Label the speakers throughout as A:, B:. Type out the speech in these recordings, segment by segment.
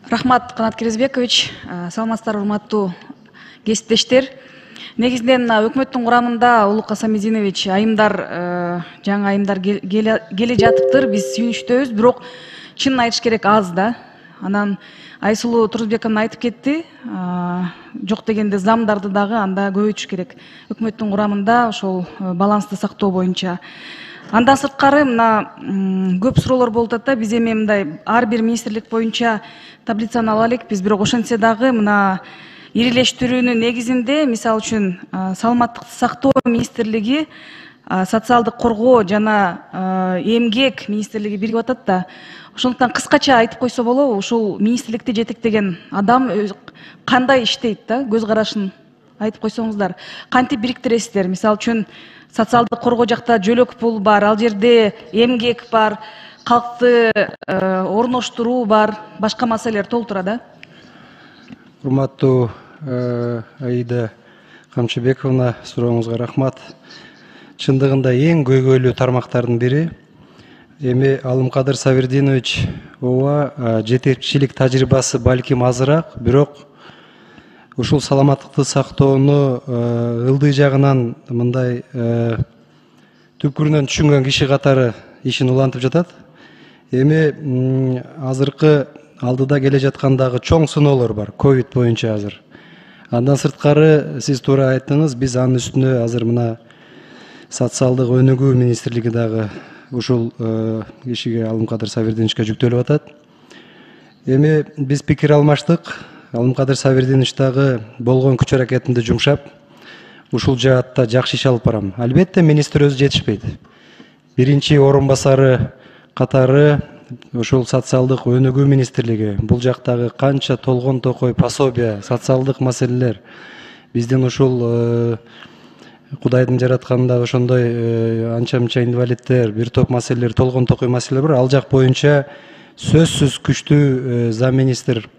A: Рахмат, Канат Керезбекович. Саламатсыздарбы, урматтуу кесиптештер. Негизинен өкмөттүн курамында Улук Асамидинович жаңы айымдар келе жатыптыр. Биз сүйүнүчтөбүз, бирок чынын айтыш керек аз да. Анан Айсулуу Турузбековна айтып кетти. Жок дегенде замдарды дагы анда көбөйтүш керек. Өкмөттүн курамында ошол балансты сактоо боюнча. Андан сырткары мына көп суроолор болуп атат да. Биз эми мындай ар бир министрлик боюнча таблицаны ала элек. Биз бирок ошентсе дагы мына ирилештирүүнүн негизинде, мисалы үчүн, саламаттыкты сактоо министрлиги, социалдык коргоо жана эмгек министрлиги биригип атат да. Ошондуктан кыскача айтып койсо болобу, ушул министрликти жетектеген адам кандай иштейт да, көз карашын айтып койсоңуздар. Кантип бириктиресиздер? Мисалы үчүн, социалдык коргоо жакта жөлөк пул бар, ал жерде эмгек бар, калкты орноштуруу бар, башка маселелер толтура да.
B: Урматтуу Аида Камчыбековна, сурооңузга рахмат. Чындыгында эң көйгөйлүү тармактардын бири. Эми Алымкадыр Сабирдинович ооба, жетекчилик тажрыйбасы балким азыраак, бирок ушул саламаттыкты сактоону ылдый жагынан мындай түпкүрүнөн түшүнгөн киши катары ишин улантып жатат. Эми азыркы алдыда келе жаткандагы чоң сыноолор бар, ковид боюнча азыр. Андан сырткары, сиз туура айттыңыз, биз анын үстүнө азыр мына социалдык өнүгүү министрлиги дагы ушул кишиге, Алымкадыр Сабирдиновичке жүктөлүп атат. Эми биз пикир алмаштык. Алымкадыр Сабирдинович дагы болгон күч аракетинди жумшап, ушул жаатта жакшы иш алып барам. Албетте, министр өзү жетишпейт. Биринчи орун басары катары ушул социалдык өнүгүү министрлиги, бул жактагы канча толгон токой пособия, социалдык маселелер, биздин ушул Кудайдын жаратканында ошондой анча-мынча инвалидтер, бир топ маселелер, толгон токой маселелер бар. Ал жак боюнча сөзсүз күчтүү зам министр.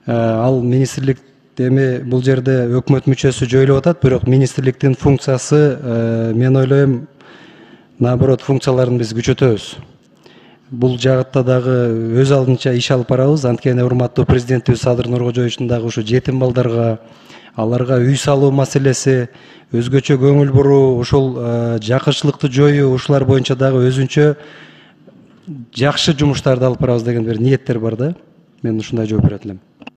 B: Ал министрлик эми бул жерде өкмөт мүчөсү жоюлуп атат, бирок министрликтин функциясы, мен ойлойм, наоборот, функцияларын биз күчөтөбүз. Бул жагытта дагы өз алдынча иш алып барабыз. Анткени урматтуу президентибиз Садыр Нуркожоевичтин дагы ушу жетим балдарга, аларга үй салуу маселеси, өзгөчө көңүл буруу, ушул жакырчылыкты жоюу, ушулар боюнча дагы өзүнчө жакшы жумуштарды алып барабыз деген бир ниеттер бар да. Мен ушундай жооп берет элем.